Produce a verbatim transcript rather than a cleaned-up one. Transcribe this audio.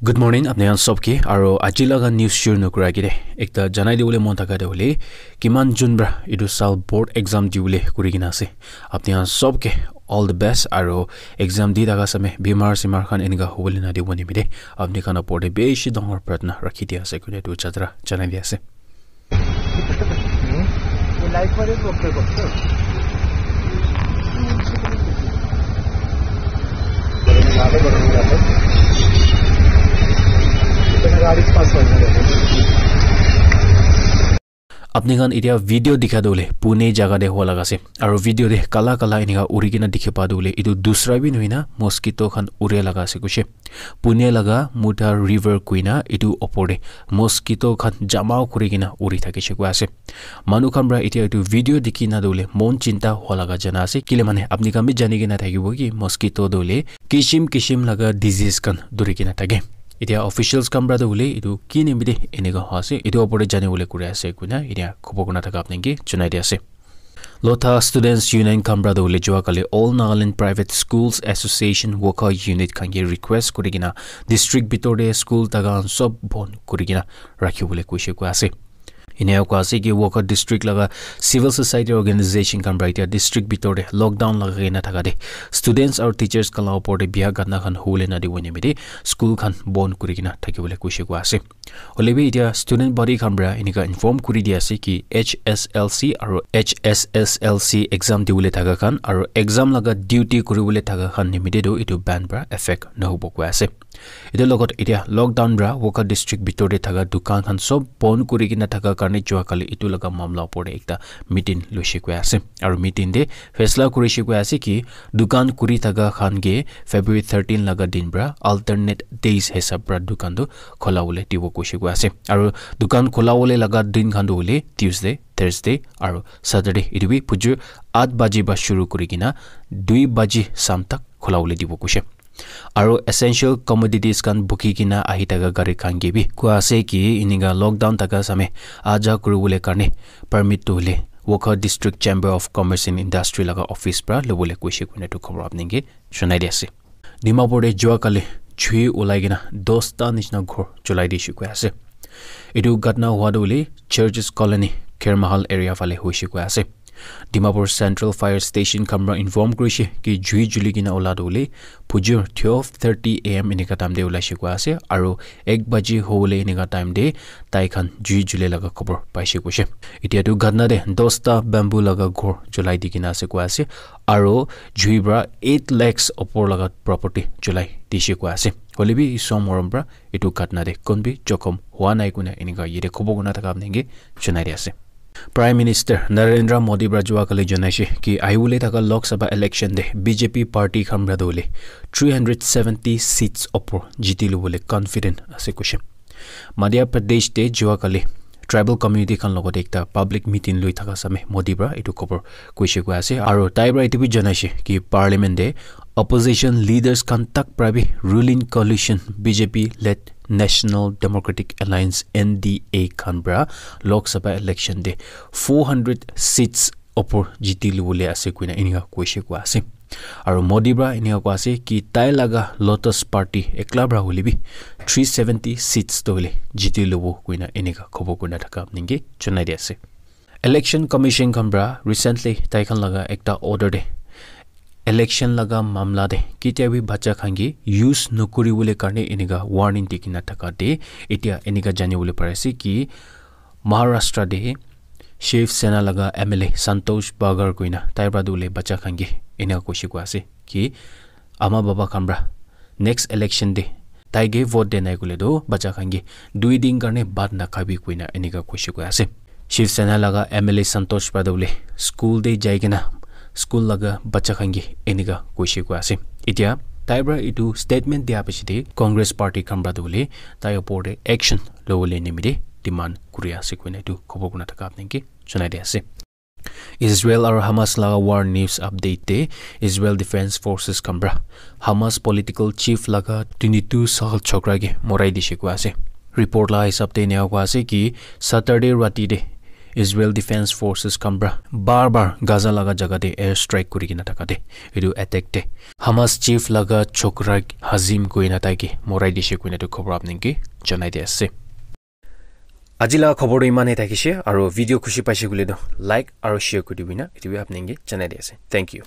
Good morning, apni khan sob ke, aro aji laga news shuru nokura ke de, ekta janai dibole mon thaka de hoile, kiman jun pra etu sal board exam dibole kuri kena ase. Apni khan sob ke all the best, aro exam di thaka same bimar simar khan enika hobole na dibo nimite apni khan opor de bishi dangor pratna rakhi di ase koina etu jatra janai di ase. Apni khan etia video dikha tu hoile Pune jaga te howa laga ase, aro video te kala kala enika uri kena dikhi pa tu hoile etu dusra bi nohoi na mosquito khan ure laga ase kuishe. Pune laga Mutha River koina etu opor te mosquito khan jama kuri kena uri thakishe koi ase. Manu khan pra etia etu video dikhi na tu hoile mon chinta howa laga jana ase, kile mane apni khan bi jani kena thakibo ki mosquito tu hoile kishim kishim laga disease khan duri kena thake. Etia officials khan pra tu hoile etu ki nimite enika howa ase, etu opor te jani bole kuri ase koina etia khobor kurna thaka apni ke janai di ase. Lotha Students Union khan pra tu hoile jua kali All Nagaland Private Schools Association Wokha Unit khan ke request kuri kena district bitor te school thaka khan sob bon kuri kena rakhi bole kuishe koi ase. Enia koi ase ki Wokha district laga civil society organization khan pra etia district bitor te lockdown lagai kena thaka te students aru teachers khan la opor te bia gatna khan hobole na dibo nimite school khan bon kuri kena thaki bole kuishe koi ase. Hoile bi etia student body khan pra enika inform kuri di ase ki H S L C aru H S S L C exam dibole thaka khan aru exam laga duty kuribole thaka khan nimite tu etu ban pra effect nahobo koi ase. Etu logot etia lockdown pra Wokha district bitor te thaka dukan khan sob bon kuri kena thaka karne jua kali etu laga mamla opor te ekta meeting loishe koi ase. Aru meeting te faisla kurishe koi ase ki dukan kuri thaka khan ke February thirteen laga din pra alternate days hisab pra dukan tu khola bole dibo kuishe koi ase. Aru dukan khola bole laga din khan tu hoile Tuesday, Thursday aru Saturday. Etu bi phujur aat baji pra shuru kuri kena dui baji sham tak khola bole dibo kuishe. Aru essential commodities khan bukhi kena ahi thaka gari khan ke bi koi ase ki enika lockdown thaka same aja kuribole karne permit tu hoile Wokha District Chamber of Commerce and Industry laga office pra lobole kuishe koina etu khobor apni ke janai di ase. Dimapur te jua kali jui ulai kena dosta nishina ghor julai dishe koi ase. Etu ghatna hua tu hoile Churches Colony, Khermahal area phale hoishe koi ase. Dimapur Central Fire Station khan pra inform kurishe ki jui juli kena ula tu hoile phujur twelve thirty A M enika time te ulaishe koi ase, aru ek baji hobole enika time te tai khan jui jule laga khobor paishe koishe. Etia tu ghatna te dosta bamboo laga ghor julai di kena ase koi ase, aru jui pra eight lakhs opor laga property julai dishe koi ase. Hoile bi Isor morom pra etu ghatna te kon bi jokhom hua nai koina enika yate khobor kurna thaka apni ke janai di ase. Prime Minister Narendra Modi pra jua kali janaishe ki ahibole thaka Lok Sabha election te B J P party khan pra tu hoile three hundred seventy seats opor jiti lobole confident ase koishe. Madhya Pradesh te jua kali tribal community khan logot ekta public meeting loi thaka same Modi pra etu khobor koishe koi ase, aru tai pra etu bi janaishe ki parliament te opposition leaders khan tak pra bi ruling coalition B J P led National Democratic Alliance N D A khan pra Lok Sabha election te four hundred seats opor jiti lobole ase koina enika koishe koi ase. Aru Modi pra enika koi ase ki tai laga Lotus Party ekla pra hoile bi three seventy seats tu hoile jiti lobo koina enika khobor kurna thaka apni ke janai di ase. Election Commission khan pra recently tai khan laga ekta order te election laga mamla te ketia bi bacha khan ke use nokuri bole karne enika warning di kena thaka te etia enika jani bole pari ase ki Maharashtra te Shiv Sena laga M L A Santosh Bagar koina tai pra tu hoile bacha khan ke enika koishe koi ase ki ama baba khan pra next election te tai ke vote de nai koile tu bacha khan ke dui din karne bhat na khabi koina enika koishe koi ase. Shiv Sena laga M L A Santosh pra tu hoile school te jai kena school laga bacha khan ke enika koishe koi ase. Etia tai pra etu statement dia piche te Congress party khan pra tu hoile tai opor te action lobole nimite demand kuri ase koina etu khobor kurna thaka apni ke janai di ase. Israel aru Hamas laga war news update te Israel Defense Forces khan pra Hamas political chief laga twenty-two sal chokra ke morai dishe koi ase. Report la hisab te enika koi ase ki Saturday rati te Israel Defense Forces khan pra bar bar Gaza laga jaga te air strike kuri kena thaka te, etu attack te Hamas chief laga chokra Hazim koina tai ke morai dishe koina tu khobor apni ke janai di ase. Aji laga khobor tu iman he thakishe, aru video khushi paishe koile tu like aru share kuri dibina, etu bi apni ke janai di ase. Thank you.